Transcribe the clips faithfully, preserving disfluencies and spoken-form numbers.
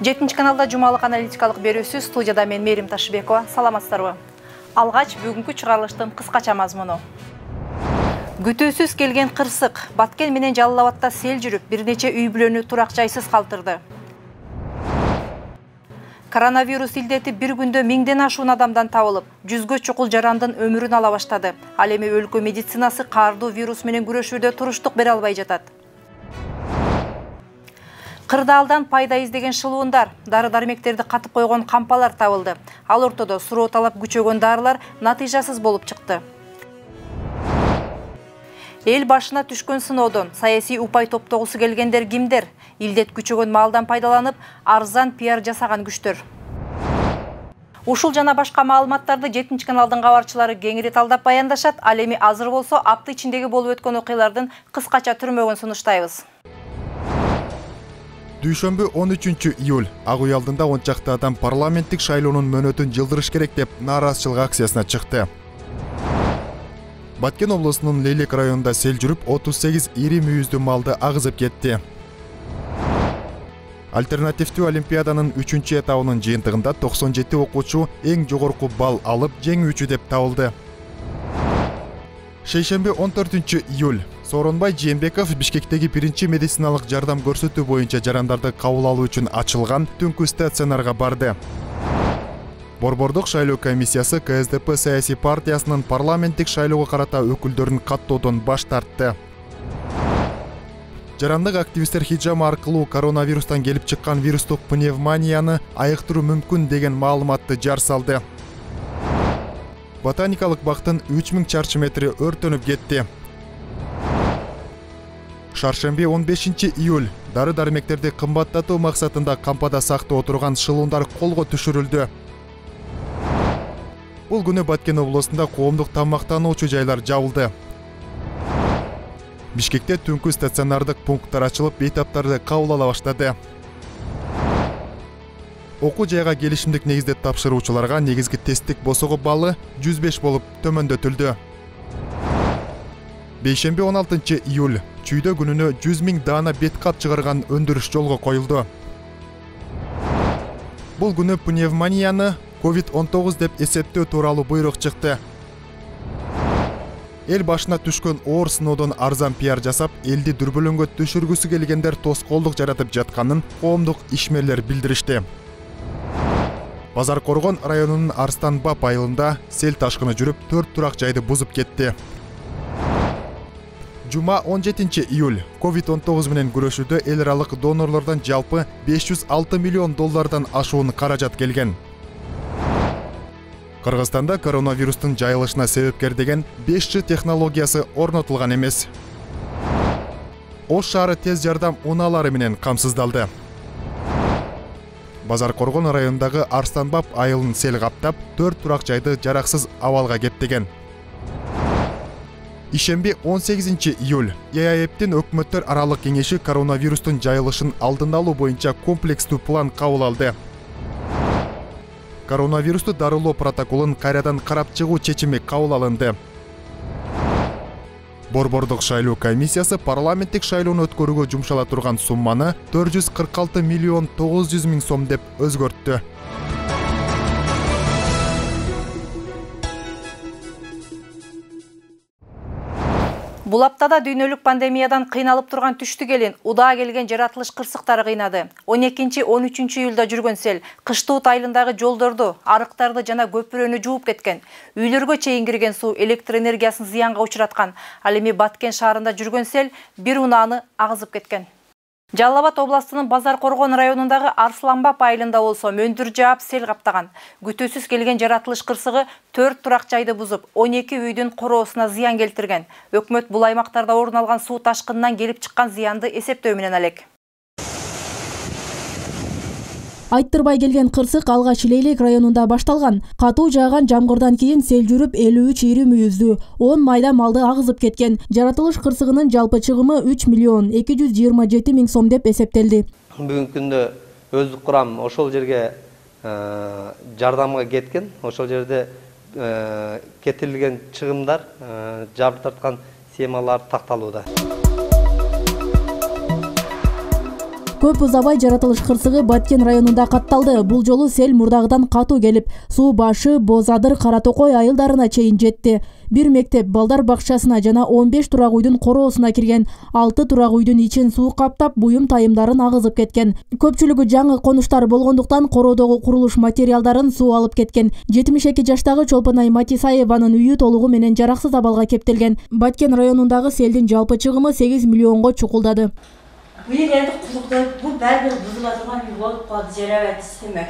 жетинчи каналда жумалык аналитикалык берүүсү, студияда мен Мерим Ташыбекова. Саламатсыздарбы? Алгач бүгүнкү чыгарылыштын кыскача мазмуну. Күтүүсүз келген кырсык, Баткен менен Жалал Абадта сел жүрүп, бир нече үй бүлөнү турак жайсыз калтырды. Коронавирус илдети бир күндө миңден ашуун адамдан табылып, жүзгө чукул жарандын өмүрүн ала баштады. Ал эми өлкө медицинасы каардуу вирус менен күрөшүүдө туруштук бере албай жатат. Кырдаалдан пайда издеген шылуундар, дары-дармектерди катып койгон кампалар табылды. Ал ортодо суроо талап күчөгөн дарылар натыйжасыз болуп чыкты. Эл башына түшкөн сыноодон саясий упай топтогусу келгендер кимдер? Илдет күчөгөн маалдан пайдаланып, арзан пиар жасаган күчтөр. Ушул жана башка маалыматтарды жетинчи каналдын кабарчылары кеңири талдап баяндашат. Ал эми азыр болсо апта ичиндеги болуп өткөн окуялардын кыскача түрмөгүн сунуштайбыз. Дүйшөмбү он үчүнчү июль ак үй алдында он чакты адам парламенттик шайлоонун мөөнөтүн жылдырыш керек деп нааразычылык акциясына чыкты. Баткен облусунун Лейлек районунда сел жүрүп, отуз сегиз ири мүйүздүү малды агызып кетти. Альтернативдүү олимпиаданын үчүнчү этабынын жыйынтыгында токсон жети окуучу эң жогорку балл алып, жеңүүчү деп табылды. Шейшемби он төртүнчү июль Сооронбай Жээнбеков Бишкектеги биринчи медициналык жардам көрсөтүү боюнча жарандарды кабыл алуу үчүн ачылган түнкү стационарга барды. Борбордук шайлоо комиссиясы Ка Эс Де Пе саясий партиясынын парламенттик шайлоого карата өкүлдөрүн каттоодон баш тартты. Жарандык активисттер хиджама аркылуу коронавирустан келип чыккан вирустук пневмонияны айыктыруу мүмкүн деген маалыматты жар салды. Ботаникалык бактын үч миң чарчы метри өртөнүп кетти. Шаршемби он бешинчи июль дары-дармектерди кымбаттатуу максатында кампада сактап отурган шылуундар колго түшүрүлдү. Бул күнү Баткен облусунда коомдук тамактануучу жайлар жабылды. Бишкекте түнкү стационардык пункттар ачылып, бейтаптарды кабыл ала баштады. Окуу жайга келишимдик негизде тапшыруучуларга негизги тесттик босого баллы жүз беш болуп төмөндөтүлдү. Бейшемби он алтынчы июль чүйдө күнүнө жүз миң даана бет кат чыгарган өндүрүш жолго коюлду. Бул күнү пневмонияны ковид он тогуз деп эсептөө тууралуу буйрук чыкты. Эл башына түшкөн оор сыноодон арзан пиар жасап, элди дүрбөлөңгө түшүргүсү келгендер тоскоолдук жаратып жатканын коомдук ишмерлер билдиришти. Базар Коргон районунун Арстан Бап айылында сел ташкыны жүрүп, төрт турак жайды бузуп кетти. Жума он жетинчи июль ковид он тогуз менен күрөшүүдө эл аралык донорлордон жалпы беш жүз алты миллион доллардан ашуун каражат келген. Кыргызстанда коронавирустун жайылышына себепкер деген беш джи технологиясы орнотулган эмес. Ош шаары тез жардам унаалары менен камсыздалды. Базар Коргон районундагы Арстан Бап айылын сел каптап, төрт турак жайды жараксыз абалга кептеген. Ишемби он сегизинчи июль Е А Эптин өкмөттөр аралык кеңеши коронавирустун жайылышын алдын алуу боюнча комплекстүү план кабыл алды. Коронавирусту дарылоо протоколун кайрадан карап чыгуу чечими кабыл алынды. Борбордук шайлоо комиссиясы парламенттик шайлоону өткөрүүгө жумшала турган сумманы төрт жүз кырк алты миллион тогуз жүз миң сом деп өзгөрттү. Бул аптада дүйнөлүк пандемиядан кыйналып турган түштүк элин удаа келген жаратылыш кырсыктары кыйнады. он экинчи он үчүнчү июлда жүргөн сел кыштыут айылындагы жолдорду, арыктарды жана көпүрөнү жууп кеткен. Үйлөргө чейин кирген суу электр энергиясын зыянга учураткан. Ал эми Баткен шаарында жүргөн сел бир унааны агызып кеткен. Жалал Абад областынын Базар Коргон районундагы Арслан Бап айылында болсо мөндүр жаап сел каптаган. Күтүүсүз келген жаратылыш кырсыгы төрт турак жайды бузуп, он эки үйдүн короосуна зыян келтирген. Өкмөт бул аймактарда орун алган суу ташкынынан келип чыккан зыянды эсептөө менен алек. Айттырбай келген кырсык алгач Лейлек районунда башталган. Катуу жааган жамгырдан кийин сел жүрүп элүү үч ири мүйүздүү он майда малды агызып кеткен. Жаратылыш кырсыгынын жалпы чыгымы үч миллион эки жүз жыйырма жети миң сом деп эсептелди. Бүгүнкү күндө өздүк курам ошол жерге жардамга кеткен. Ошол жерде кетирилген чыгымдар жабыр тарткан схемалар такталууда. Көп узабай жаратылыш кырсыгы Баткен районунда катталды. Бул жолу сел мурдагыдан катуу келип, суу башы, Бозадыр, Кара Токой айылдарына чейин жетти. Бир мектеп, балдар бакчасына жана он беш турак үйдүн короосуна кирген. алты турак үйдүн ичин суу каптап, буюм тайымдарын агызып кеткен. Көпчүлүгү жаңы конуштар болгондуктан короодогу курулуш материалдарын суу алып кеткен. жетимиш эки жаштагы Чолпонай Матисаеванын үйү толугу менен жараксыз абалга кептелген. Баткен районундагы селдин жалпы чыгымы сегиз миллионго чукулдады. Быйыл енді құдықты бұл бәрбір бұзыла тұрған үй болып қалды, жарабат істемек.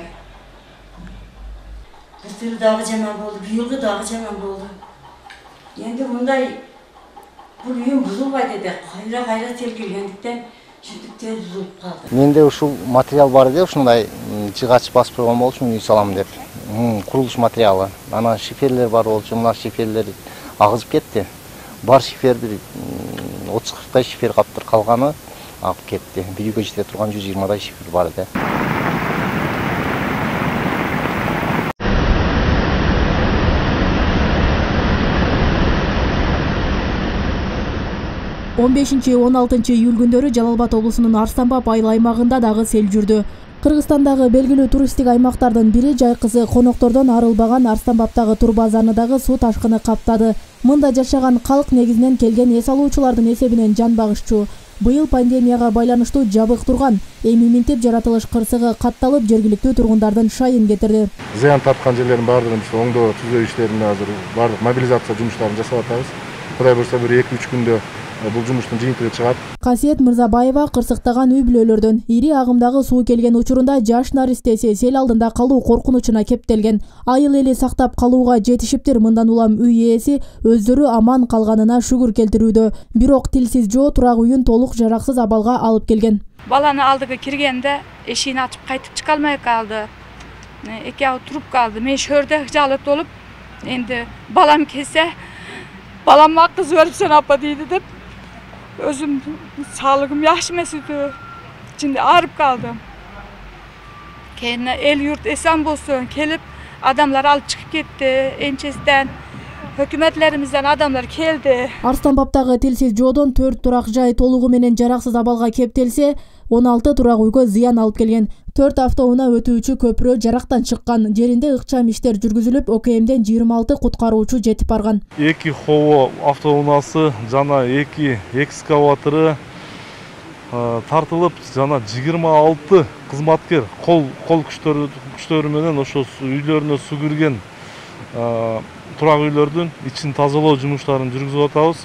Бір түрі дағы жаман болды, бүйілгі дағы жаман болды. Енді мұндай бұл үйім бұзылбайды деді, қайра-қайра тергелгендіктен жүндіктер бұзылып қалды. Менде ушул материал бар еді, ушундай жыгач басып койгон болчумун үй салам деп. Курулуш материалы. Ана шиферлер бар болчу, мына шиферлер агызып кетти. Бар шиферди отуз кырктай шифер каптыр, калганы алып кетти. Bir үйгө жете турган жүз жыйырмадай шифер бар эди. он бешинчи он алтынчы июль күндөрү Жалал Абад облусунун Арстанбап айыл аймагында дагы сел жүрдү. Кыргызстандагы белгилүү туристтик аймактардын бири жайкысы коноктордон арылбаган Арстанбаптагы турбазаны дагы суу ташкыны каптады. Мында жашаган калк негизинен келген эс алуучулардын эсебинен жан багышчу. Быйыл пандемияга байланыштуу жабык турган, эми минтип жаратылыш кырсыгы катталып, жергиликтүү тургундардын шайын кетирди. Зыян тарткан жерлердин баардыгын биз оңдоо түзөө иштерин азыр баардык мобилизация жумуштарын жасап атабыз. Кудай буйрса бир эки үч күндө бул жумуштун жыйынтыгы чыгат. Касиет Мырзабаева кырсыктаган үй бүлөлөрдөн ири агымдагы суу келген учурунда жаш наристеси сел алдында калуу коркунучуна кептелген. Айыл эли сактап калууга жетишиптир. Мындан улам үй ээси өздөрү аман калганына шүгүр келтирүүдө. Бирок тилсиз жоо турак үйүн толук жараксыз абалга алып келген. Баланы алдыга киргенде эшигин ачып кайтып чыга алмай калды. Экөө туруп калды. Мен шөрдө жалып толуп, энди балам келсе, баламга кыз берипсен апа дейди деп, özüm sağlığım yaxşı emas edi. İçinde ağrıp kaldım. Kendine el yurt esen bolsun kelip adamlar alıp çıkıp gitti. Ençesinden hökümetlerimizden adamlar geldi. Арстанбаптагы тилсиз жоодон төрт турак жай толугу менен жараксыз абалга кептелсе, он алты турак үйгө зыян алып келген. төрт автоунаа өтүүчү көпүрө жарактан чыккан. Жеринде ыкчам иштер жүргүзүлүп, ОКМден жыйырма алты куткаруучу жетип барган. эки хово автоунаасы жана эки экскаватору тартылып, жана жыйырма алты кызматкер кол кол күчтөрү күчтөрү менен ошо үйлөрүнө суу кирген турак үйлөрдүн ичин тазалоо жумуштарын жүргүзүп атабыз.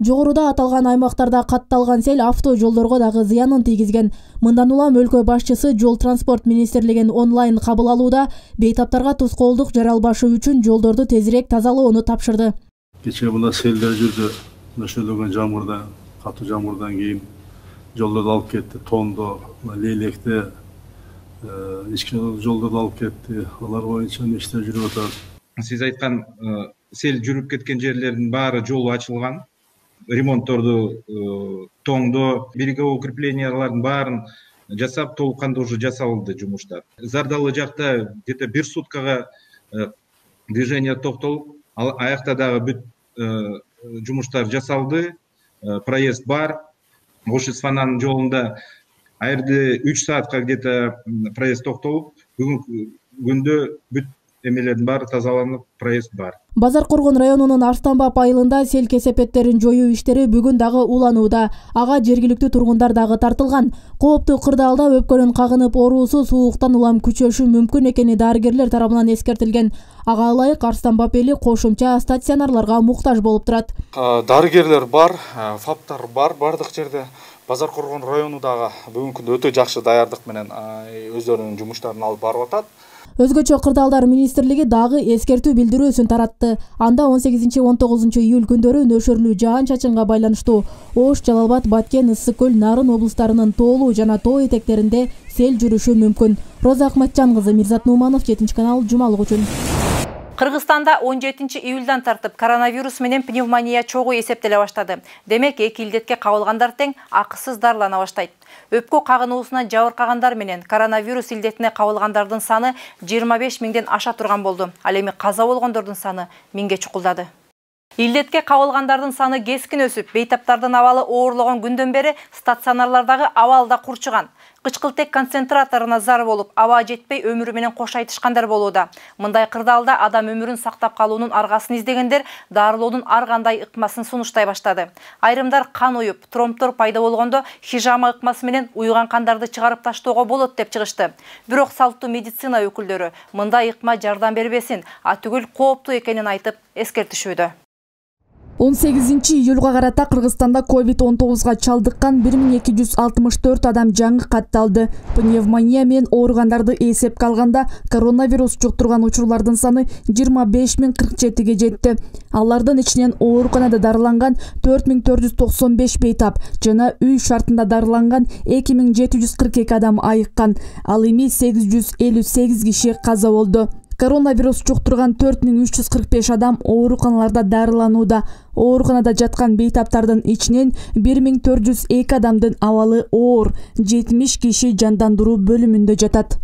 Жогоруда аталган аймактарда катталган сел авто жолдорго дагы зыянын тийгизген. Мындан улам өлкө башчысы жол транспорт министрлигин онлайн кабыл алууда бейтаптарга тоскоолдук жаралбашы үчүн жолдорду тезирээк тазалоону тапшырды. Кечээ мына селдер жүрдү. Нөшөлөгөн жамгырдан, катуу жамгырдан кийин жолдорду алып кетти. Тондо, Лейлекте ички жолдорду алып кетти. Алар боюнча иштер жүрүп атат. Сиз айткан сел жүрүп кеткен жерлердин баары жолу ачылган. Ремонтторду, тоңдо, береговой укреплениялардын баарын жасап, толук кандуу уже жасалды жумуштар. Зардалы жакта где-то бир суткага движение токтолуп, аякта дагы бүт жумуштар жасалды, проезд бар. Ош-Исфананын жолунда айрды үч саатка где-то проезд токтолуп, бүгүнкү күндө бүт эмелердин баары тазаланып, проезд бар. Базар Коргон районунун Арстанбап айылында сел кесепеттерин жоюу иштери бүгүн дагы уланууда. Ага жергиликтүү тургундар дагы тартылган. Кооптуу кырдаалда өпкөнүн кагынып оруусу сууктан улам күчөшү мүмкүн экени дарыгерлер тарабынан эскертилген. Ага ылайык Арстанбап эли кошумча стационарларга муктаж болуп турат. Дарыгерлер бар, фаптар бар бардык жерде. Базар Коргон району дагы бүгүнкү күндө өтө жакшы даярдык менен өздөрүнүн жумуштарын алып барып атат. Өзгөчө кырдаалдар министрлиги дагы эскертүү билдирүүсүн таратты. Анда он сегизинчи он тогузунчу июль күндөрү нөшөрлүү жаан-чачынга байланыштуу Ош, Жалал Абад, Баткен, Ысык көл, Нарын облустарынын тоолуу жана тоо этектеринде сел жүрүшү мүмкүн. Роза Акматжан кызы, Мирзат Нуманов, жетинчи канал, жумалык үчүн. Кыргызстанда он жетинчи июлдан тартып коронавирус менен пневмония чогуу эсептеле баштады. Демек, эки илдетке кабылгандар тең акысыз дарылана баштайт. Өпкө кагынуусунан жабыркагандар менен коронавирус илдетине кабылгандардын саны жыйырма беш миңден аша турган болду. Ал эми каза болгондордун саны миңге чукулдады. Илдетке кабылгандардын саны кескин өсүп, бейтаптардын абалы оорлогон күндөн бери стационарлардагы абал да курчуган. Кычкылтек концентраторуна зар болуп, аба жетпей өмүрү менен кош айтышкандар болууда. Мындай кырдаалда адам өмүрүн сактап калуунун аргасын издегендер дарылоонун ар кандай ыкмасын сунуштай баштады. Айрымдар кан уюп, тромбтор пайда болгондо хижама ыкмасы менен уюган кандарды чыгарып таштоого болот деп чыгышты. Бирок салттуу медицина өкүлдөрү мындай ыкма жардам бербесин, а түгүл кооптуу экенин айтып эскертишүүдө. он сегизинчи июлга карата Кыргызстанда ковид он тогузга чалдыккан бир миң эки жүз алтымыш төрт адам жаңы катталды. Пневмония менен ооругандарды эсепке алганда коронавирус жуктурган учурлардын саны жыйырма беш миң кырк жетиге жетти. Алардын ичинен ооруканада дарыланган төрт миң төрт жүз токсон беш бейтап жана үй шартында дарыланган эки миң жети жүз кырк эки адам айыккан. Ал эми сегиз жүз элүү сегиз киши каза болду. Коронавирус жуктурган төрт миң үч жүз кырк беш адам ооруканаларда дарыланууда. Ооруканада жаткан бейтаптардын ичинен бир миң төрт жүз эки адамдын абалы оор, жетимиш киши жандандыруу бөлүмүндө жатат.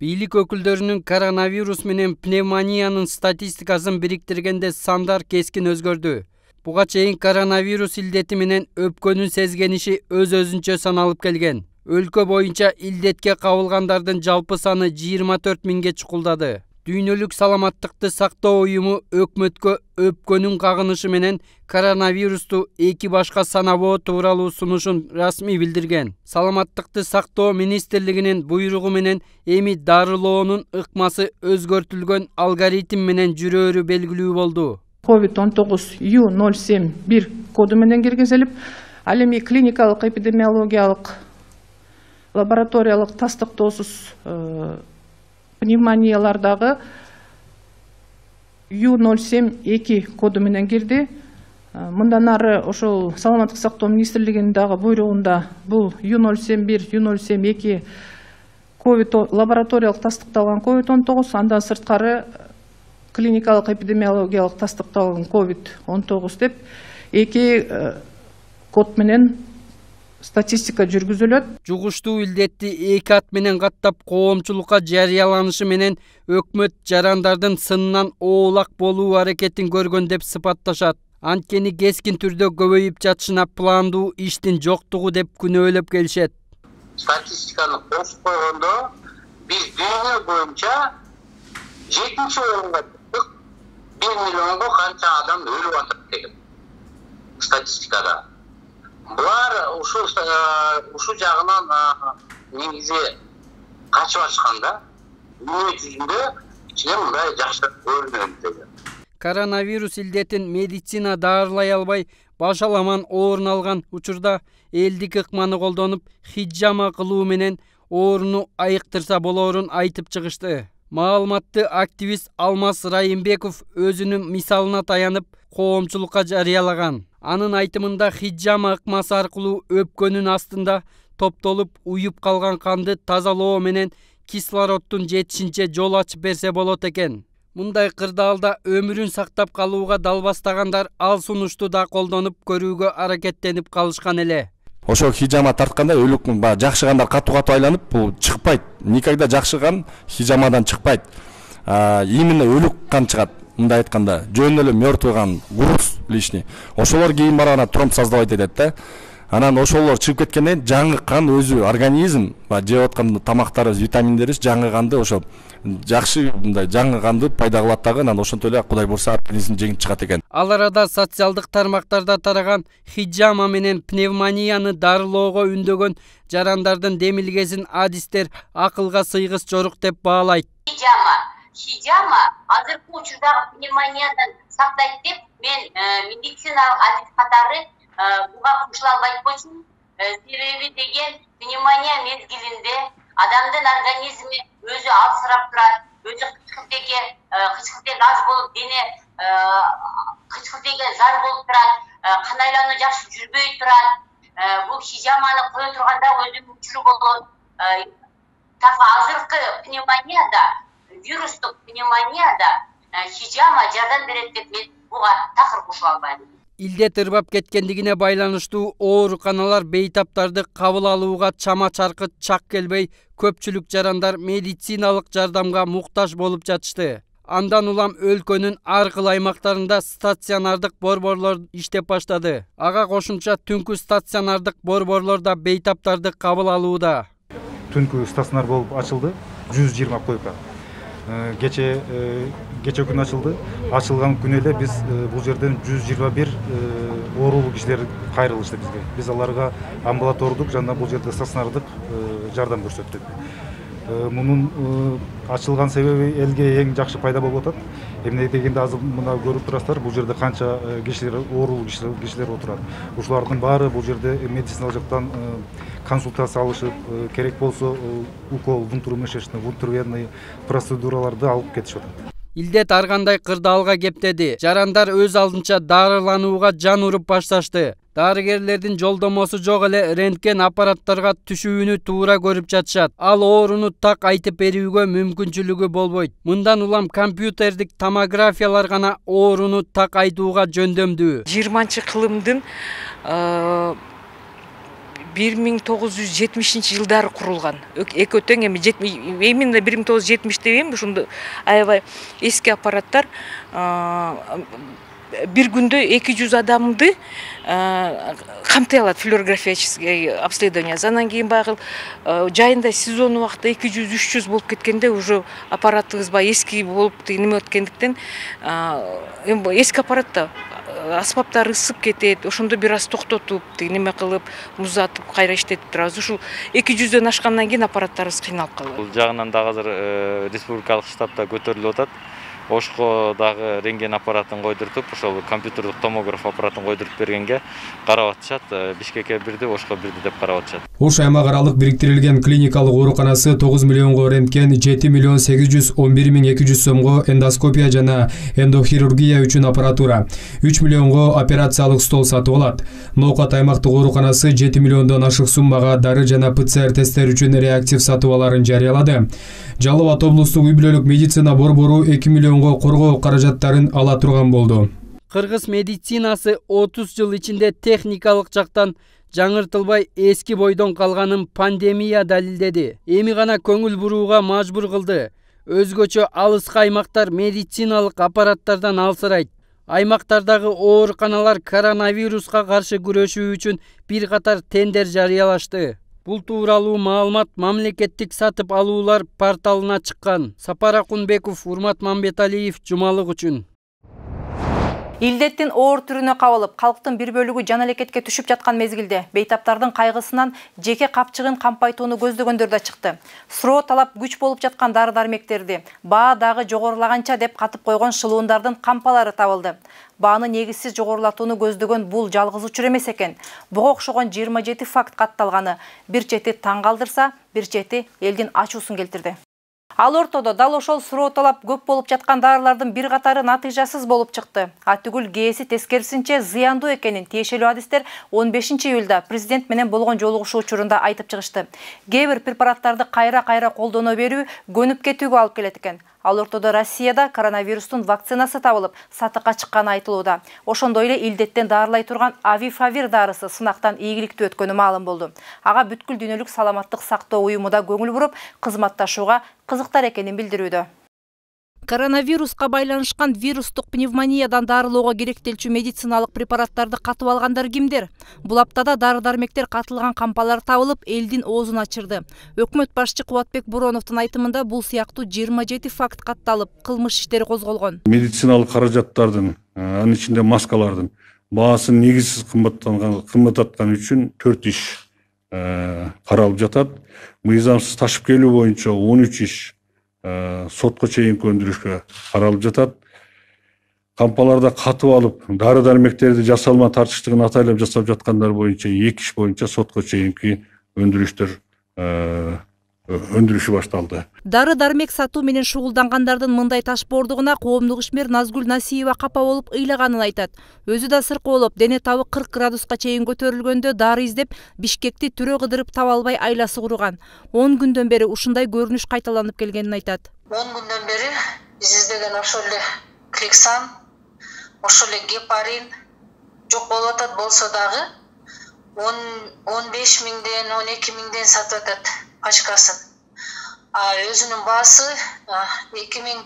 Бийлик өкүлдөрүнүн коронавирус менен пневмониянын статистикасын бириктиргенде сандар кескин өзгөрдү. Буга чейин коронавирус илдети менен өпкөнүн сезгениши өз-өзүнчө саналып келген. Өлкө боюнча илдетке кабылгандардын жалпы саны жыйырма төрт миңге чукулдады. Дүйнөлүк саламаттыкты сактоо уюму өкмөткө өпкөнүн кагынышы менен коронавирусту эки башка санабоо тууралуу сунушун расмий билдирген. Саламаттыкты сактоо министрлигинин буйругу менен эми дарылоонун ыкмасы өзгөртүлгөн алгоритм менен жүрөөрү белгилүү болду. ковид он тогуз ю ноль семь бир коду менен киргизилип, ал эми клиникалык эпидемиологиялык лабораториялык тастыктоосуз пневмониялардагы ю ноль семь эки коду менен кирди. Мындан ары ошол саламаттык сактоо министрлигинин дагы буйругунда бул ю ноль семь бир, ю ноль семь эки ковид лабораториялык тастыкталган ковид он тогуз, андан сырткары клиникалык эпидемиологиялык тастыкталган ковид он тогуз деп эки код менен статистика жүргүзүлөт. Жугуштуу илдетти эки ат менен каттап коомчулукка жарыяланышы менен өкмөт жарандардын сынынан оолак болуу аракетин көргөн деп сыпатташат. Анткени кескин түрдө көбөйүп жатышына пландуу иштин жоктугу деп күнөөлөп келишет. Статистиканы кошуп койгондо биз дүйнө боюнча жетинчи орунга чыктык. бир миллионго канча адам өлүп атат деген статистикада. Булар ушул ушул жагынан негизи качып ачканда дүйнө жүзүндө ичине мындай жакшы көрүнөт деген. Коронавирус илдетин медицина даарылай албай башаламан орун алган учурда элдик ыкманы колдонуп хиджама кылуу менен ооруну айыктырса болоорун айтып чыгышты. Маалыматты активист Алмаз Райымбеков өзүнүн мисалына таянып коомчулукка жарыялаган. Анын айтымында хиджама ыкмасы аркылуу өпкөнүн астында топтолуп уюп калган канды тазалоо менен кислороддун жетишинче жол ачып берсе болот экен. Мындай кырдаалда өмүрүн сактап калууга далбастагандар ал сунушту да колдонуп көрүүгө аракеттенип калышкан эле. Ошо хижама тартканда өлүк жакшыгандар катуу катуу айланып, бул чыкпайт. Никогда жакшыган хижамадан чыкпайт. Именно өлүк кан чыгат. Мындай айтканда, жөн эле мёртвый кан, груз лишний. Ошолор кийин барганда тромб создавать этет да. Анан ошолор чыгып кеткенден жаңы кан өзү организм жеп аткан тамактарыбыз, витаминдерибиз жаңы канды ошо жакшы мындай жаңы канды пайда кылат дагы, анан ошентип эле Кудай бурса организм жеңип чыгат экен. Ал арада социалдык тармактарда тараган хиджама менен пневмонияны дарылоого үндөгөн жарандардын демилгесин адистер акылга сыйгыс жорук деп баалайт. Хиджама, хиджама азыркы учурдагы пневмониядан сактайт деп мен медициналык адис катары буга кошула албайт болчумун. Себеби деген пневмония мезгилинде адамдын организми өзү алсырап турат, өзү кычкылтекке кычкылтек аз болуп дене кычкылтеге зар болуп турат, кан айлануу жакшы жүрбөй турат. Бул хижаманы кое турганда өзүнүн учуру болот. Так азыркы пневмонияда, вирустук пневмонияда хижама жардам берет деп мен буга такыр кошула албайм. Илдет ырбап кеткендигине байланыштуу ооруканалар бейтаптарды кабыл алууга чама чаркы чак келбей, көпчүлүк жарандар медициналык жардамга муктаж болуп жатышты. Андан улам өлкөнүн ар кыл аймактарында стационардык борборлор иштеп баштады. Ага кошумча түнкү стационардык борборлор да бейтаптарды кабыл алууда. түнкү стационар болуп ачылды, жүз жыйырма койка. Кече кече күнү ачылды. Ачылган күнү эле биз бул жерден жүз жыйырма бир оорулуу кишилер кайрылышты бизге. Биз аларга амбулатордук жана бул жерде стационардык жардам көрсөттүк. Мунун ачылган себеби элге эң жакшы пайда болуп атат. Эмне дегенде азыр мына көрүп турасыздар, бул жерде канча кишилер, оорулуу кишилер отурат. Ушулардын баары бул жерде медициналык жактан консультация алышып, керек болсо укол, вунтурмышечный, вунтурвенный процедураларды алып кетишип атат. Илдет ар кандай кырдаалга кептеди. Жарандар өз алдынча дарыланууга жан уруп башташты. Дарыгерлердин жолдомосу жок эле рентген аппараттарга түшүүнү туура көрүп жатышат. Ал ооруну так айтып берүүгө мүмкүнчүлүгү болбойт. Мындан улам компьютердик томографиялар гана ооруну так айтууга жөндөмдүү. жыйырманчы кылымдын бир миң тогуз жүз жетимишинчи жылдары курулган. Экөө тең эми именно бир миң тогуз жүз жетимиш дейм, ушундай аябай эски аппараттар. Бир күндө эки жүз адамды камтай алат флюорографический обследование. Андан кийин багы жайында сезон убакта эки жүз үч жүз болуп кеткенде уже аппаратыбыз баягы эски болуп неме өткөндүктен эски аппаратта аспаптар ысып кетет, ошондо бир аз токтотуп, неме кылып, музатып, кайра иштетип турабыз. Ушул эки жүздөн ашкандан кийин аппараттарыбыз кыйналып калат. Бул жагынан дагы азыр республикалык штабта көтөрүлүп атат. Ошко дагы рентген аппаратын койдуртуп, ошол компьютердик томограф аппаратын койдуруп бергенге карап атышат. Бишкекке бирди, Ошко бирди деп карап атышат. Ош аймак аралык бириктирилген клиникалык ооруканасы тогуз миллионго рентген, жети миллион сегиз жүз он бир миң эки жүз сомго эндоскопия жана эндохирургия үчүн аппаратура, үч миллионго операциялык стол сатып алат. Ноокат аймактык ооруканасы жети миллиондон ашык суммага дары жана ПЦР тесттер үчүн реактив сатып аларын жарыялады. Жалал Абад облустук үй бүлөлүк медицина борбору эки миллионго коргоо каражаттарын ала турган болду. Кыргыз медицинасы отуз жыл ичинде техникалык жактан жаңыртылбай эски бойдон калганын пандемия далилдеди. Эми гана көңүл бурууга мажбур кылды. Өзгөчө алыскы аймактар медициналык аппараттардан алсырайт. Аймактардагы ооруканалар коронавируска каршы күрөшүү үчүн бир катар тендер жарыялашты. Бул тууралуу маалымат мамлекеттик сатып алуулар порталына чыккан. Сапар Акунбеков, Урмат Мамбеталиев, Жумалык үчүн. Илдеттин оор түрүнө кабылып, калктын бир бөлүгү жан алекетке түшүп жаткан мезгилде бейтаптардын кайгысынан жеке капчыгын кампайтууну көздөгөндөр да чыкты. Суроо талап күч болуп жаткан дары-дармектерди баа дагы жогорулаганча деп катып койгон шылуундардын кампалары табылды. Бааны негизсиз жогорулатууну көздөгөн бул жалгыз учур эмес экен. Буга окшогон жыйырма жети факт катталганы бир чети таң калтырса, бир чети элдин ачуусун келтирди. Ал ортодо дал ошол суроо талап көп болуп жаткан дарылардын бир катары натыйжасыз болуп чыкты. Атүгүл кээси тескерисинче зыяндуу экенин тиешелүү адистер он бешинчи июлда президент менен болгон жолугушуу учурунда айтып чыгышты. Кээ бир препараттарды кайра-кайра колдоно берүү көнүп кетүүгө алып келет экен. Ал ортодо Россияда коронавирустун вакцинасы табылып, сатыкка чыкканы айтылууда. Ошондой эле илдеттен дарылай турган Авифавир дарысы сынактан ийгиликтүү өткөнү маалым болду. Ага бүткүл дүйнөлүк саламаттык сактоо уюму да көңүл буруп, кызматташууга кызыктар экенин билдирүүдө. Коронавируска байланышкан вирустук пневмониядан дарылоого керектелчү медициналык препараттарды катып алгандар кимдер? Бул аптада дары-дармектер катылган кампалар табылып, элдин оозун ачырды. Өкмөт башчы Кубатбек Буроновдун айтымында бул сыяктуу жыйырма жети факт катталып, кылмыш иштери козголгон. Медициналык каражаттардын, анын ичинде маскалардын баасы негизсиз кымбаттанган, кымбаттаткан үчүн төрт иш каралып жатат. Мыйзамсыз ташып келүү боюнча он үч иш сотко чейинки өндүрүшкө каралып жатат. Кампаларда катып алып, дары-дармектерди жасалма тартыштыгын атайлап жасап жаткандар боюнча эки иш боюнча сотко чейинки өндүрүштөр өндүрүшү башталды. Дары-дармек сатуу менен шугулдангандардын мындай ташбоордугуна коомдук ишмер Назгүл Насиева капа болуп ыйлаганын айтат. Өзү да сыркы болуп, дене табы кырк градуска чейин көтөрүлгөндө дары издеп, Бишкекти түрө кыдырып таба албай айласы курган. он күндөн бери ушундай көрүнүш кайталанып келгенин айтат. он күндөн бери биз издеген ошол эле Кликсан, ошол эле гепарин жок болуп атат, болсо дагы он беш миңден он эки миңден сатып атат пачкасын. А өзүнүн баасы эки миң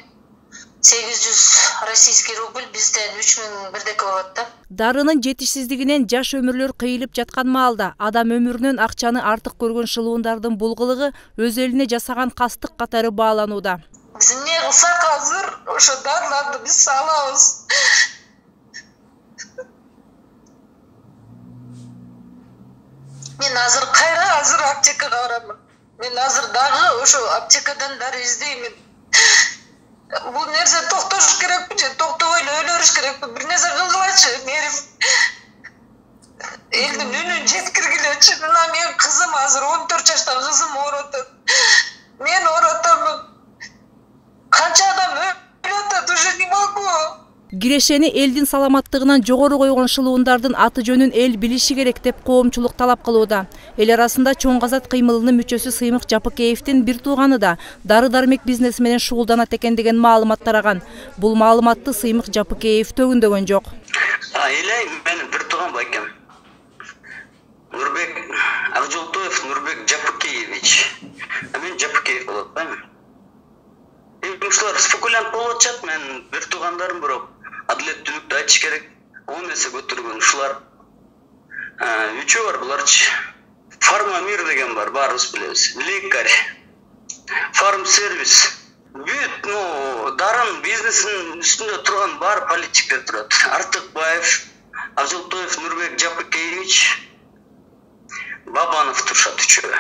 сегиз жүз российский рубль, бизден үч миң бирдеке болот да. Дарынын жетишсиздигинен жаш өмүрлөр кыйылып жаткан маалда адам өмүрүнөн акчаны артык көргөн шылуундардын бул кылыгы өз элине жасаган кастык катары бааланууда. Биз эмне кылсак азыр ошо дарыларды биз салабыз. Мен азыр кайра азыр аптекага барамын. Мен азыр дагы ошо аптекадан дары издеймин. Бул нерсе токтош керекпи же токтобой эле өлө бериш керекпи? Бир нерсе кылгылачы, мээрим. Элдин үнүн жеткиргилечи. Мына менин кызым азыр он төрт жаштагы кызым ооруп атат. Мен ооруп атамын. Канча адам өлүп атат, уже не могу. Кирешени элдин саламаттыгынан жогору койгон шылуундардын аты жөнүн эл билиши керек деп коомчулук талап кылууда. Эл арасында Чоң Казат кыймылынын мүчөсү Сыймык Жапыкеевдин бир тууганы да дары-дармек бизнеси менен шугулданат экен деген маалымат тараган. Бул маалыматты Сыймык Жапыкеев төгүндөгөн жок. Элей менин бир тууган бар экен. Нурбек Акжолтоев Нурбек Жапыкеевич. Мен Жапыкеев болот атпаймынбы? Ушулар спекулянт болуп атышат, мен бир туугандарым бирок адилеттүүлүктү айтыш керек. Он эсе көтөргөн ушулар. Үчөө бар буларчы. Фармамир деген бар, баарыбыз билебиз. Лекарь, фарм сервис. Бүт, ну, дарын бизнесинин үстүндө турган бар политиктер турат. Артыкбаев, Акжолтоев Нурбек Жапыкеевич, Бабанов турушат үчөө.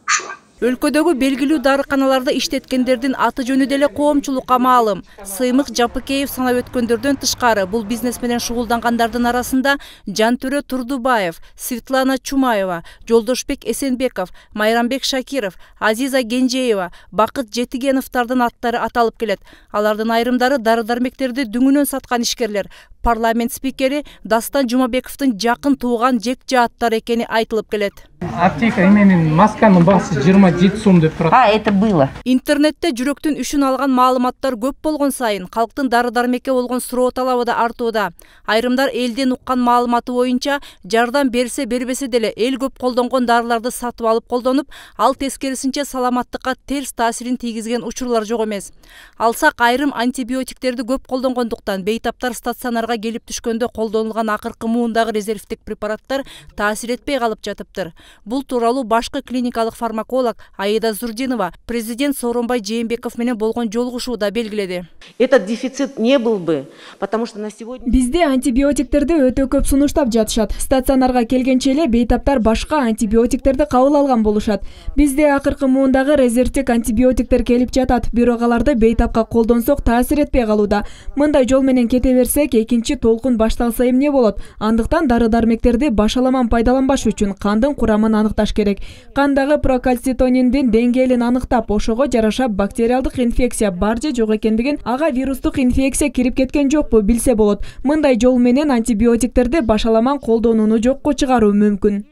Ушул. Өлкөдөгү белгилүү дарыканаларда иштеткендердин аты жөнү деле коомчулукка маалым. Сыймык Жапыкеев санап өткөндөрдөн тышкары бул бизнес менен шугулдангандардын арасында Жантөрө Турдубаев, Светлана Чумаева, Жолдошбек Эсенбеков, Майрамбек Шакиров, Азиза Генжеева, Бакыт Жетигеновдардын аттары аталып келет. Алардын айрымдары дары-дармектерди дүңүнөн саткан ишкерлер. Парламент спикери Дастан Жумабековдун жакын тууган жек жааттар экени айтылып келет. Аптека менен масканын баасы жыйырма жети сом деп турат. А, это было. Интернетте жүрөктүн үшүн алган маалыматтар көп болгон сайын калктын дары-дармекке болгон суроо талабы да артууда. Айрымдар элден уккан маалыматы боюнча жардам берсе бербесе деле эл көп колдонгон дарыларды сатып алып колдонуп, ал тескерисинче саламаттыкка терс таасирин тийгизген учурлар жок эмес. Алсак айрым антибиотиктерди көп колдонгондуктан бейтаптар стационарга келип түшкөндө колдонулган акыркы муундагы резервдик препараттар таасир этпей калып жатыптыр. Бул тууралуу башкы клиникалык фармаколог Аида Зурдинова президент Сооронбай Жээнбеков менен болгон жолугушууда белгиледи. Этот дефицит не был бы, потому что на сегодня бизде антибиотиктерди өтө көп сунуштап жатышат. Стационарга келгенче эле бейтаптар башка антибиотиктерди кабыл алган болушат. Бизде акыркы муундагы резервдик антибиотиктер келип жатат, бирок аларды бейтапка колдонсок таасир этпей калууда. Мындай жол менен кете берсек, экинчи толкун башталса эмне болот? Андыктан дары-дармектерди башаламан пайдаланбаш үчүн кандын курамын аныкташ керек. Кандагы прокальцитониндин деңгээлин аныктап, ошого жараша бактериалдык инфекция бар же жок экендигин, ага вирустук инфекция кирип кеткен жокпу билсе болот. Мындай жол менен антибиотиктерди башаламан колдонууну жокко чыгаруу мүмкүн.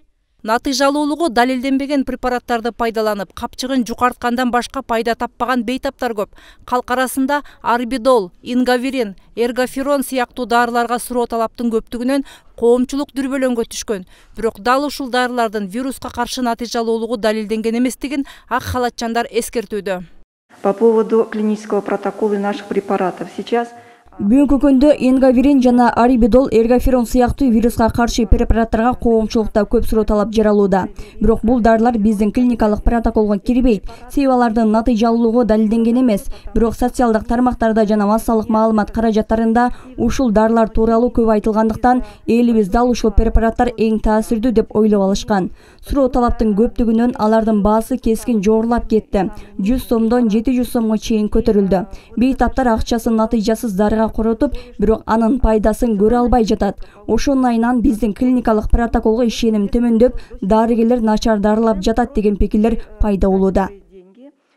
Натыйжалуулугу далилденбеген препараттарды пайдаланып, капчыгын жукарткандан башка пайда таппаган бейтаптар көп. Калк арасында арбидол, ингавирин, эргоферон сыяктуу дарыларга суроо талаптын көптүгүнөн коомчулук дүрбөлөңгө түшкөн. Бирок дал ушул дарылардын вируска каршы натыйжалуулугу далилденген эместигин ак халатчандар эскертүүдө. По поводу клинического протокола наших препаратов сейчас Бүгүнкү күндө ингавирин жана арибидол, эргоферон сыяктуу вируска каршы препараттарга коомчулукта көп суроо талап жаралууда. Бирок бул дарылар биздин клиникалык протоколго кирбейт. Себеби алардын натыйжалуулугу далилденген эмес. Бирок социалдык тармактарда жана массалык маалымат каражаттарында ушул дарылар тууралуу көп айтылгандыктан, элибиз дал ушул препараттар эң таасирдүү деп ойлоп алышкан. Суроо талаптын көптүгүнөн алардын баасы кескин жогорулап кетти. жүз сомдон жети жүз сомго чейин көтөрүлдү. Бейтаптар акчасын натыйжасыз дарыга коротуп, бирок анын пайдасын көрө албай жатат. Ошонун айынан биздин клиникалык протоколго ишеним төмөндөп, дарыгерлер начар дарылап жатат деген пикирлер пайда болууда.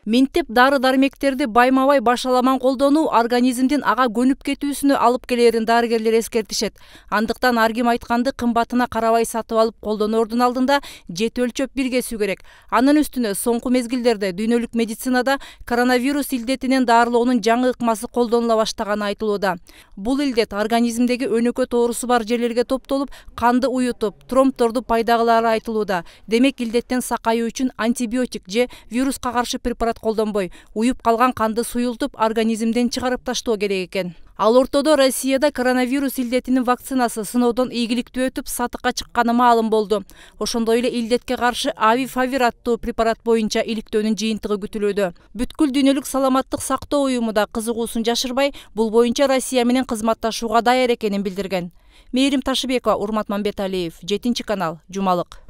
Минтеп дары-дармектерди байма-бай башаламан колдонуу организмдин ага көнүп кетүүсүнө алып келерин дарыгерлер эскертишет. Андыктан ар ким айтканды кымбатына карабай сатып алып колдоноордун алдында жети өлчөп биргесүү керек. Анын үстүнө соңку мезгилдерде дүйнөлүк медицинада коронавирус илдетинен даарылоонун жаңы ыкмасы колдонула баштаганы айтылууда. Бул илдет организмдеги өнөкөт оорусу бар жерлерге топтолуп, канды уютуп, тромбторду пайда кылары айтылууда. Демек илдеттен сакайуу үчүн антибиотик же вируска каршы препарат препарат колдонбой, уюп калган канды суюлтуп, организмден чыгарып таштоо керек экен. Ал ортодо Россияда коронавирус илдетинин вакцинасы сыноодон ийгиликтүү өтүп, сатыкка чыкканы маалым болду. Ошондой эле илдетке каршы Авифавир аттуу препарат боюнча иликтөөнүн жыйынтыгы күтүлүүдө. Бүткүл дүйнөлүк саламаттык сактоо уюму да кызыгуусун жашырбай, бул боюнча Россия менен кызматташууга даяр экенин билдирген. Мээрим Ташыбекова, Урмат Мамбеталиев, жетинчи канал, Жумалык.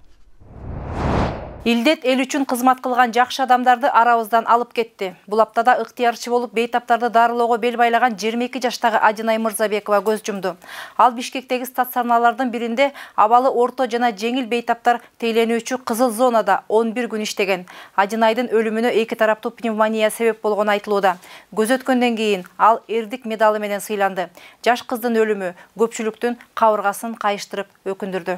Илдет эл үчүн кызмат кылган жакшы адамдарды арабыздан алып кетти. Бул аптада ыктыярчы болуп бейтаптарды дарылоого бел байлаган жыйырма эки жаштагы Ажынай Мырзабекова көз жумду. Ал Бишкектеги стационарлардын биринде абалы орто жана жеңил бейтаптар тейлөнүүчү кызыл зонада он бир күн иштеген. Ажынайдын өлүмүнө эки тараптуу пневмония себеп болгону айтылууда. Көз өткөндөн кийин ал эрдик медалы менен сыйланды. Жаш кыздын өлүмү көпчүлүктүн кабыргасын кайыштырып өкүндүрдү.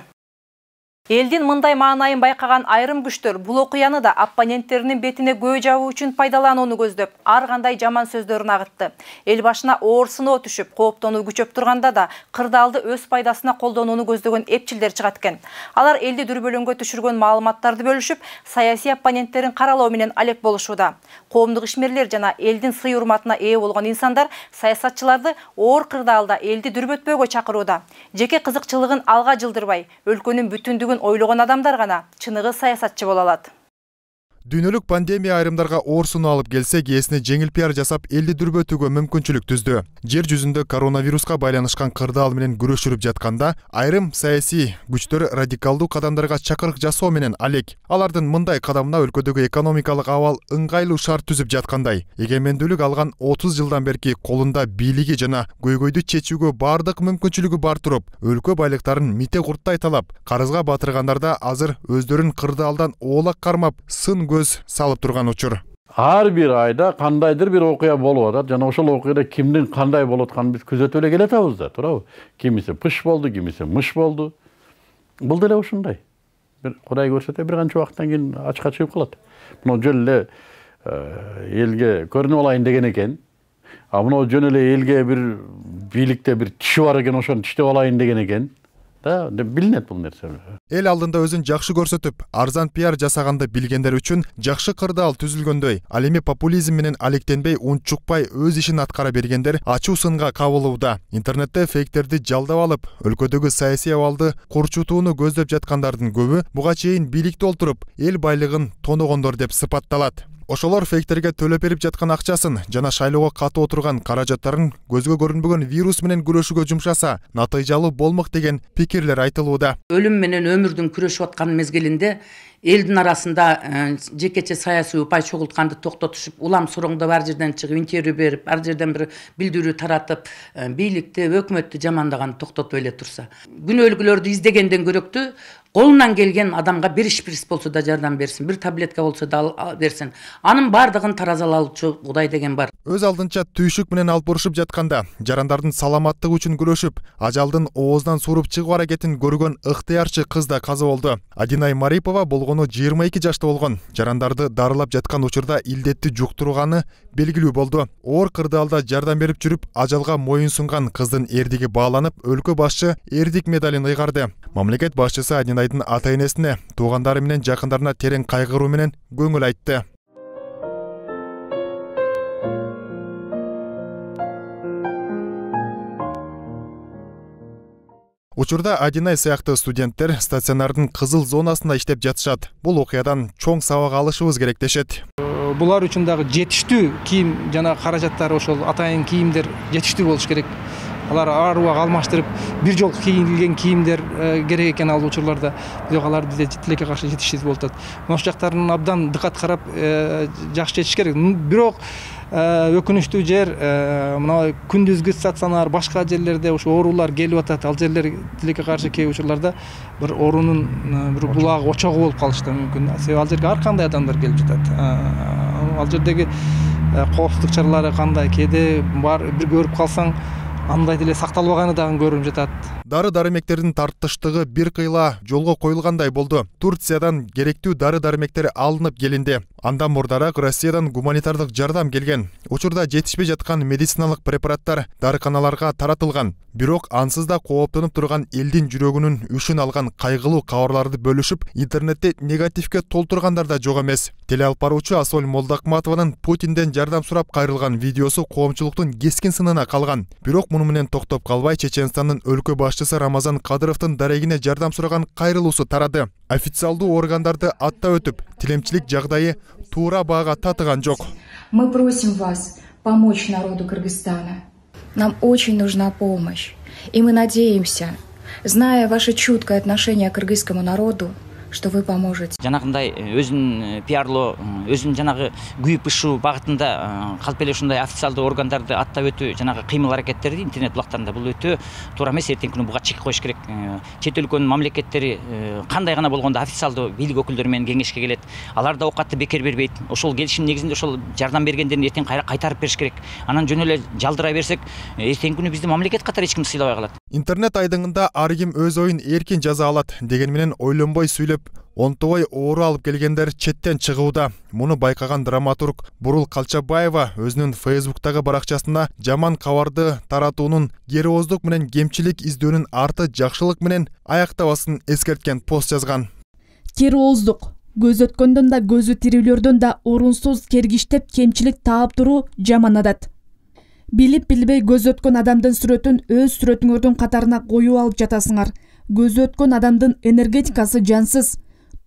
Элдин мындай маанайын байкаган айрым күчтөр бул окуяны да оппоненттеринин бетине көө жабуу үчүн пайдаланууну көздөп, ар кандай жаман сөздөрүн агытты. Эл башына оор сыноо түшүп, кооптонуу күчөп турганда да кырдаалды өз пайдасына колдонууну көздөгөн эпчилдер чыгат экен. Алар элди дүрбөлөңгө түшүргөн маалыматтарды бөлүшүп, саясий оппоненттерин каралоо менен алек болушууда. Коомдук ишмерлер жана элдин сый урматына ээ болгон инсандар саясатчыларды оор кырдаалда элди дүрбөтпөөгө чакырууда. Жеке кызыкчылыгын алга жылдырбай, өлкөнүн бүтүндүгүн ойлогон адамдар гана чыныгы саясатчы боло алат. Дүйнөлүк пандемия айрымдарга оор сыноо алып келсе, кээсине жеңил пиар жасап элди дүрбөтүүгө мүмкүнчүлүк түздү. Жер жүзүндө коронавируска байланышкан кырдаал менен күрөшүлүп жатканда, айрым саясий күчтөр радикалдуу кадамдарга чакырык жасоо менен алек. Алардын мындай кадамына өлкөдөгү экономикалык абал ыңгайлуу шарт түзүп жаткандай. Эгемендүүлүк алган отуз жылдан берки колунда бийлиги жана көйгөйдү чечүүгө бардык мүмкүнчүлүгү бар туруп, өлкө байлыктарын мите курттай талап, карызга батыргандарда азыр өздөрүн кырдаалдан оолак кармап, сын көз салып турган учур. Ар бир айда кандайдыр бир окуя болуп атат, жана ошол окуяда кимдин кандай болуп атканын биз күзөтүп эле келатабыз да, туурабы? Кимиси пыш болду, кимиси мыш болду. Бул деле ушундай. Бир Кудай көрсөтө бир канча убакыттан кийин ачыкка чыгып калат. Мына жөн эле элге көрүнүп алайын деген экен. А мына жөн эле элге бир бийликте бир тиши бар экен, ошону тиштеп алайын деген экен. Да, билинет бул нерсе. Эл алдында өзүн жакшы көрсөтүп, арзан пиар жасаганды билгендер үчүн жакшы кырдаал түзүлгөндөй, ал эми популизм менен алектенбей, унчукпай өз ишин аткара бергендер ачуу сынга кабылууда. Интернетте фейктерди жалдап алып, өлкөдөгү саясий абалды курчутууну көздөп жаткандардын көбү буга чейин бийликте олтуруп, эл байлыгын тоногондор деп сыпатталат. Ошолор фейктерге төлөп берип жаткан акчасын жана шайлоого катып отурган каражаттарын көзгө көрүнбөгөн вирус менен күрөшүүгө жумшаса, натыйжалуу болмок деген пикирлер айтылууда. Өлүм менен өмүрдүн күрөшүп аткан мезгилинде элдин арасында жекече саясий упай чогултканды токтотушуп, улам суроңдоп ар жерден чыгып интервью берип, ар жерден бир билдирүү таратып, бийликти, өкмөттү жамандаган токтотуп эле турса, күнөөлүүлөрдү издегенден көрөктүү колунан келген адамга бир шприц болсо да жардам берсин, бир таблетка болсо да берсин. Анын бардыгын таразалаучу Кудай деген бар. Өз алдынча түйшүк менен алып урушуп жатканда, жарандардын саламаттыгы үчүн күрөшүп, ажалдын оозунан суруп чыгуу аракетин көргөн ыктыярчы кыз да каза болду. Адинай Марипова болгону жыйырма эки жашта болгон. Жарандарды дарылап жаткан учурда илдетти жуктурганы белгилүү болду. Оор кырдаалда жардам берип жүрүп, ажалга моюн сунган кыздын эрдиги бааланып, өлкө башчы эрдик медалын ыйгарды. Мамлекет башчысы Адинайдын ата-энесине, туугандары менен жакындарына терең кайгыруу менен көңүл айтты. Учурда Адинай сыяктуу студенттер стационардын кызыл зонасында иштеп жатышат. Бул окуядан чоң сабак алышыбыз керек дешет. Булар үчүн дагы жетиштүү кийим жана каражаттар, ошол атайын кийимдер жетиштүү болуш керек. Алар ар убак алмаштырып, бир жолку кийилген кийимдер керек экен ал учурларда. Бирок алар бизде тилекке каршы жетишсиз болуп атат. Ошол жактарын абдан дыкат карап, жакшы чечиш керек. Бирок өкүнүчтүү жер мына күндүзгү стационар, башка жерлерде ошо оорулар келип атат. Ал жерлер тилекке каршы кээ учурларда бир оорунун бир булагы, очогу болуп калышы мүмкүн. Себеби ал жерге ар кандай адамдар келип жатат. Ал жердеги коопсуздук чаралары кандай, кээде бар бир көрүп калсаң андай деле сакталбаганы дагы көрүнүп жатат. дары-дармектердин тартыштыгы бир кыйла жолго коюлгандай болду. Турциядан керектүү дары-дармектер алынып келинди. Андан мурдараак Россиядан гуманитардык жардам келген. Учурда жетишпей жаткан медициналык препараттар дарыканаларга таратылган. Бирок ансыз да кооптонуп турган элдин жүрөгүнүн үшүн алган кайгылуу кабарларды бөлүшүп, интернетте негативге толтургандар да жок эмес. Теле алып баруучу Асол Молдакматованын Путинден жардам сурап кайрылган видеосу коомчулуктун кескин сынына калган. Бирок муну менен токтоп калбай, Чеченстандын өлкө башчысы Рамазан Кадыровдун дарегине жардам сураган кайрылуусу тарады. Официалдуу органдарды аттап өтүп, тилемчилик жагдайы туура баага татыган жок. Мы просим вас помочь народу Кыргызстана. Нам очень нужна помощь. И мы надеемся, зная ваше чуткое отношение к кыргызскому народу, что вы поможете. Жанагындай өзүн пиарлоо, өзүн жанагы күйүп ышуу багытында калп эле ушундай официалдуу органдарды аттап өтүү, жанагы кыймыл аракеттерди интернет булактарында бул өтө туура эмес. Эртеңки күнү буга чек коюш керек. Чет өлкөнүн мамлекеттери кандай гана болгондо официалдуу бийлик өкүлдөрү менен кеңешке келет. Алар да оокатты бекер бербейт. Ошол келишим негизинде ошол жардам бергендерин эртең кайра кайтарып бериш керек. Анан жөн эле жалдыра берсек, эртеңки күнү бизди мамлекет катары эч ким сыйлабай калат. Интернет айдыңында ар ким өз оюн эркин жаза алат. Деген менен ойлонбой сүйлөп, онтобой оору алып келгендер четтен чыгууда. Муну байкаган драматург Бурул Калчабаева өзүнүн Фейсбуктагы баракчасында жаман кабарды таратуунун керооздук менен кемчилик издөөнүн арты жакшылык менен аяктабасын эскерткен пост жазган. Керооздук көз өткөндөн да көзү тирүүлөрдөн да орунсуз кергиштеп кемчилик таап туруу жаман адат. Билип билбей көз өткөн адамдын сүрөтүн өз сүрөтүңөрдүн катарына коюп алып жатасыңар. Көз өткөн адамдын энергетикасы жансыз.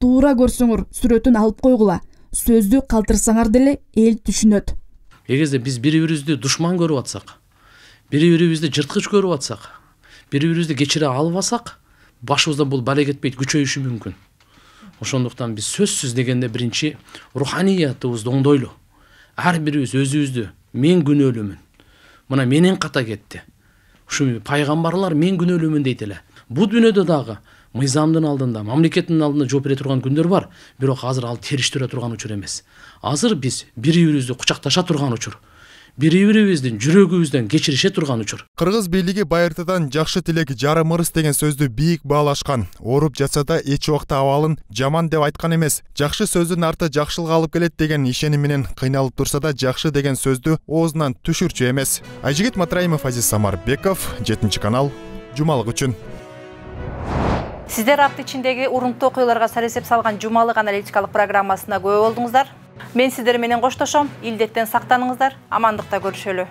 Туура көрсөңөр сүрөтүн алып койгула. Сөздү калтырсаңар деле эл түшүнөт. Эгерде биз бири-бирибизди душман көрүп атсак, бири-бирибизди жырткыч көрүп атсак, бири-бирибизди кечире албасак, башыбызда бул бала кетпейт, күчөйүшү мүмкүн. Ошондуктан биз сөзсүз дегенде биринчи руханиятыбызды оңдойлу. Ар бирибиз өзүбүздү мен күнөөлүүмүн. Мына менен ката кетти. Ушу пайгамбарлар мен күнөөлүүмүн дейт эле. Бул дүйнөдө дагы мыйзамдын алдында, мамлекеттин алдында жооп бере турган күндөр бар, бирок азыр ал териштире турган учур эмес. Азыр биз бири-бирибизди кучакташа турган учур. Бири-бирибиздин жүрөгүбүздөн кечирише турган учур. Кыргыз бийлиги байыртадан жакшы тилек жарым ырыс деген сөздү бийик баалашкан. Ооруп жатса да эч убакта абалын жаман деп айткан эмес. Жакшы сөздүн арты жакшылыкка алып келет деген ишеним менен кыйналып турса да жакшы деген сөздү оозунан түшүрчү эмес. Айжигит Матраимов, Азиз Самарбеков, жетинчи канал, жумалык үчүн. Сиздер апта ичиндеги урунттуу окуяларга саресеп салган жумалык аналитикалык программасына күбө болдуңуздар. Мен сиздер менен коштошом. Илдеттен сактаныңыздар, амандыкта көрүшөлү.